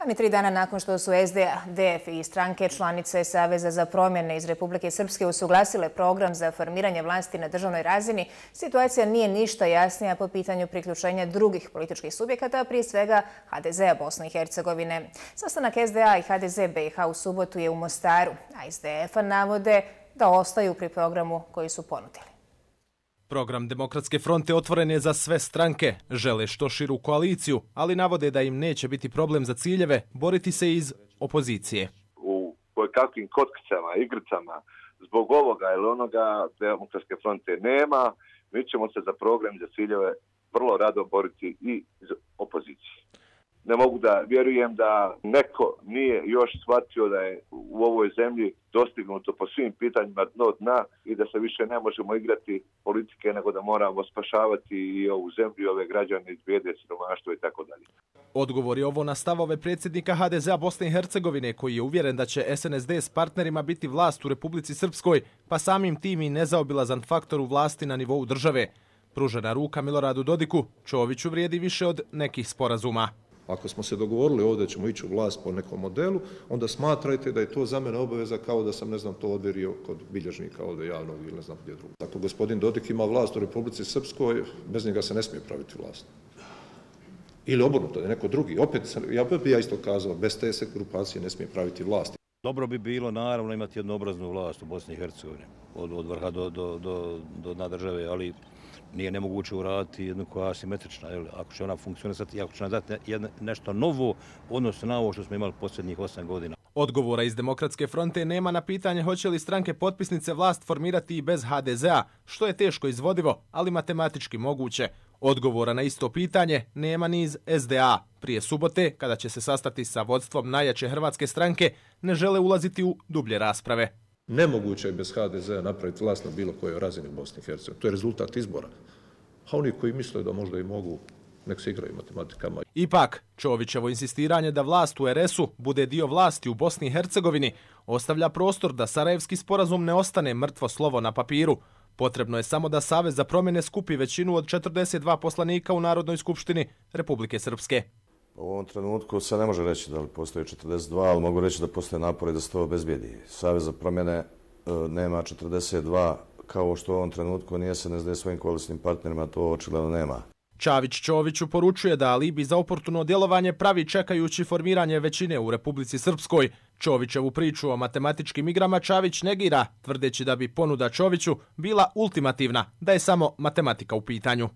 A ni 3 dana nakon što su SDA, DF i stranke članice Saveza za promjene iz Republike Srpske usuglasile program za formiranje vlasti na državnoj razini, situacija nije ništa jasnija po pitanju priključenja drugih političkih subjekata, prije svega HDZ-a Bosne i Hercegovine. Sastanak SDA i HDZ BiH u subotu je u Mostaru, a SDF-a navode da ostaju pri programu koji su ponudili. Program Demokratske fronte otvoren je za sve stranke, žele što širu koaliciju, ali navode da im neće biti problem za ciljeve boriti se iz opozicije. U kakvim kockicama, igricama, zbog ovoga ili onoga Demokratske fronte nema, mi ćemo se za program, za ciljeve vrlo rado boriti i iz opozicije. Ne mogu da vjerujem da neko nije još shvatio da je u ovoj zemlji dostignuto po svim pitanjima dno dna i da se više ne možemo igrati politike, nego da moramo spašavati i ovu zemlju i ove građane iz bijede, siromaštva i tako dalje. Odgovor je ovo na stavove predsjednika HDZ-a Bosne i Hercegovine, koji je uvjeren da će SNSD s partnerima biti vlast u Republici Srpskoj, pa samim tim i nezaobilazan faktor u vlasti na nivou države. Pružena ruka Miloradu Dodiku Čoviću vrijedi više od nekih sporazuma. Ako smo se dogovorili ovdje ćemo ići u vlast po nekom modelu, onda smatrajte da je to za mene obaveza kao da sam, ne znam, to odvjerio kod bilježnika ovdje javnog ili ne znam gdje drugo. Ako gospodin Dodik ima vlast u Republici Srpskoj, bez njega se ne smije praviti vlast. Ili obrnuto, da je neko drugi. Opet, ja bi isto kazao, bez te se grupacije ne smije praviti vlast. Dobro bi bilo, naravno, imati jednoobraznu vlast u Bosni i Hercegovini, od vrha do dna države, ali nije nemoguće uraditi jednu koja je asimetrična. Ako će ona funkcionisati i ako će nam dati nešto novo, odnosno na ovo što smo imali posljednjih 8 godina. Odgovora iz Demokratske fronte nema na pitanje hoće li stranke potpisnice vlast formirati i bez HDZ-a, što je teško izvodivo, ali matematički moguće. Odgovora na isto pitanje nema ni iz SDA. Prije subote, kada će se sastati sa vodstvom najjače hrvatske stranke, ne žele ulaziti u dublje rasprave. Nemoguće je bez HDZ-a napraviti vlast na bilo kojoj razini u Bosni i Hercegovini. To je rezultat izbora. A oni koji misle da možda i mogu, nek se igraju matematikama. Ipak, Čovićevo insistiranje da vlast u RS-u bude dio vlasti u Bosni i Hercegovini ostavlja prostor da Sarajevski sporazum ne ostane mrtvo slovo na papiru. Potrebno je samo da Savez za promjene skupi većinu od 42 poslanika u Narodnoj skupštini Republike Srpske. U ovom trenutku se ne može reći da li postoji 42, ali mogu reći da postoje napori da se to obezbijedi. Savez za promjene nema 42, kao što u ovom trenutku nije SNSD svojim koalicijskim partnerima, to očigledno nema. Čavić Čoviću poručuje da alibi za oportuno djelovanje pravi čekajući formiranje većine u Republici Srpskoj. Čovićevu priču o matematičkim igrama Čavić negira, tvrdeći da bi ponuda Čoviću bila ultimativna, da je samo matematika u pitanju.